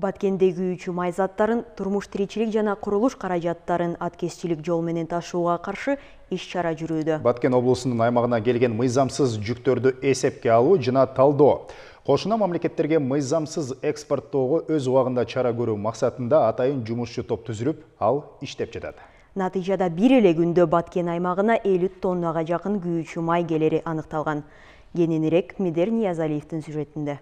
Баткенде күйүүчү май заттарын, турмуш тиричилик жана курулуш каражаттарын аткезчилик жол менен ташууга каршы иш-чара жүрүүдө. Баткен облусунун аймагына келген мыйзамсыз жүктөрдү эсепке алуу жана талдоо. Кошуна мамлекеттерге мыйзамсыз экспорттоого өз убагында чара көрүү максатында атайын жумушчу топ түзүлүп, ал иштеп жатат. Натыйжада бир эле күндө Баткен аймагына 50 тоннага жакын күйүүчү май келери аныкталган. Кененирээк Медер Ниязалиевдин сюжетинде.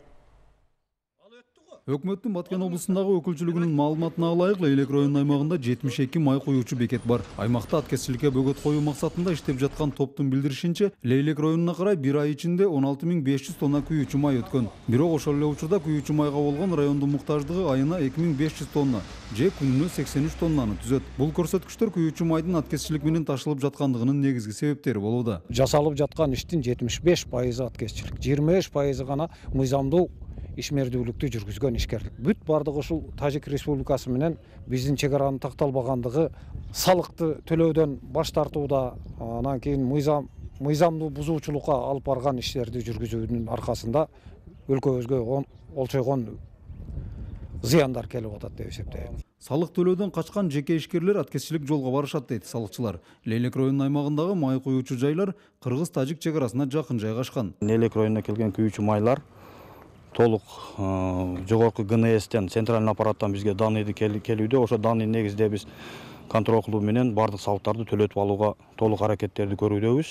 Өкмөттүн Баткен облусундагы өкүлчүлүгүнүн маалыматына ылайык, Лейлек районунун аймагында 72 май куюучу бекет бар. Аймакта аткезчиликке бөгөт коюу максатында иштеп жаткан топтун билдиришинче, Лейлек районуна карай бир ай ичинде 16500 тонна күйүүчү май өткөн. Бирок ошол эле учурда күйүүчү майга болгон райондун муктаждыгы айына 2500 тонна, же күнүнө 83 тоннаны түзөт. Бул көрсөткүчтөр күйүүчү майдын аткезчилик менен ташылып жаткандыгынын негизги себептери болууда. Жасалып жаткан иштин 75% аткезчилик, 25% гана мыйзамдуу ишмердүүлүктү жүргүзгөн ишкерлик. Бүт бардыгы ушул Тажик Республикасы менен биздин чегаранын такталбагандыгы, салыкты төлөөдөн баш тартууда, анан кийин мыйзамдуу бузуучулукка алып барган иштерди жүргүзүүнүн аркасында өлкөбүзгө олчойгон зыяндар келип атат деп эсептейм. Салык төлөөдөн качкан жеке ишкерлер аткезчилик жолго барышат дейт салыкчылар. Лейлек районунун аймагындагы май куюучу жайлар кыргыз-тажик чегарасына жакын жайгашкан. Лейлек районуна келген күйүүчү майлар толук жогорку ГНСтен, центральный аппараттан бизге данныйды келүүдө. Ошо данный негизде биз контроль кылуу менен бардык салыктарды төлөтүп алууга толук аракеттерди көрүүдөбүз.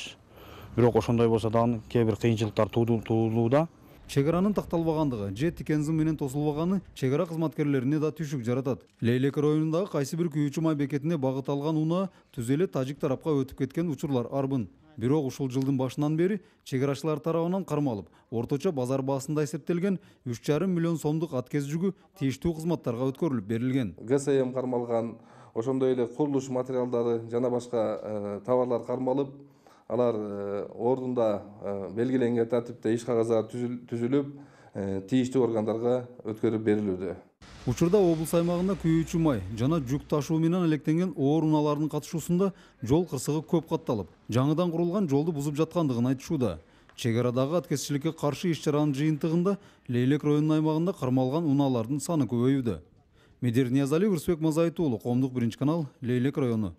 Бирок ошондой болсо дагы кээ бир кыйынчылыктар туулууда. Чегаранын такталбагандыгы же тикензим менен тосулбаганы чегара кызматкерлерине да түшүк жаратат. Лейлек районундагы кайсы бир күйүүчү май бекетине багыт алган унаа түз эле тажик тарапка өтүп кеткен учурлар арбын. Бирок ушул жылдын башынан бери чегарачылар тарабынан кармалып, орточо базар баасында эсептелген 3,5 миллион сомдук аткез жүгү тийиштүү кызматтарга өткөрүлүп берилген. ГСМ кармалган, ошондой эле курулуш материалдары жана башка товарлар кармалып, алар ордунда белгиленген тартипте иш кагаздары түзүлүп, тийиштүү органдарга өткөрүп берилүүдө. Учурда облус аймагында күйүүчү май жана жүк ташуу менен электенген оор унаалардын катышуусунда жол кырсыгы көп катталып, жаңыдан курулган жолду бузуп жаткандыгын айтышууда. Чегарадагы аткезчиликке каршы иш-чаранын жыйынтыгында Лейлек районунун аймагында кармалган унаалардын саны көбөйүүдө. Медер Ниязалиев, Урсбек Мазайтуулу, Коомдук 1 канал, Лейлек району.